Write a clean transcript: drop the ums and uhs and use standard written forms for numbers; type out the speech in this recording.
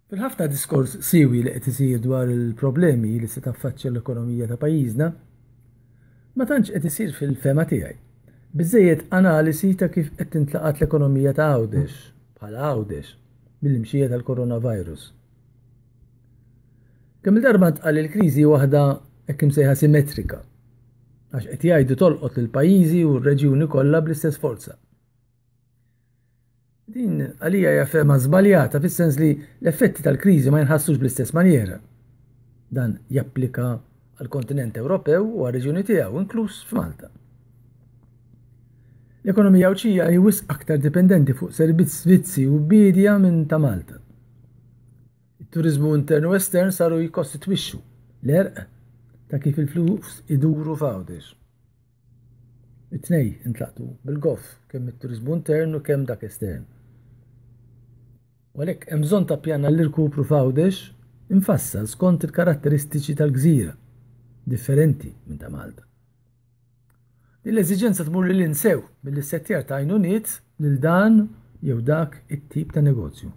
Fil-ħafna diskors siwi li qed isir dwar il-problemi li se taffaċċja l-ekonomija ta' pajjiżna, ma tantx qed isir fil-fehma tiegħi. Biżejjed analisi ta' kif qed tintlaqat l-ekonomija ta' Għawdex, bħala Għawdex, mill-imxija tal-coronavirus. Kemm il-darba ntqal li l-kriżi waħda hekk imsejħa simetrika, għax qed jgħidu tolqot lil pajjiżi u r-reġjuni kollha bl-istess forza. Din għalija hija fehma żbaljata fis-sens li l-effetti tal-kriżi ma jinħassux bl-istess manjera. Dan japplika għall-kontinent Ewropew u għar-reġjuni tiegħu, inkluż f'Malta. L-ekonomija Għawdxija hi wisq aktar dipendenti fuq servizzi u biedja minn ta' Malta. It-turiżmu intern u estern saru jikkostitwixxu l-għerq ta' kif il-flus iduru f'Għawdex. It-tnej intlaqtu bil-goff, kemm it-turiżmu intern u kemm dak estern. U għalhekk hemm bżonn ta' pjan għall-irkupru f'Għawdex imfassal skont il-karatteristiċi tal-gżira, differenti minn ta' Malta. Din l-eżiġenza tmur lil sew mill-issettjar ta' għajnuniet lil dan jew dak it-tip ta' negozju.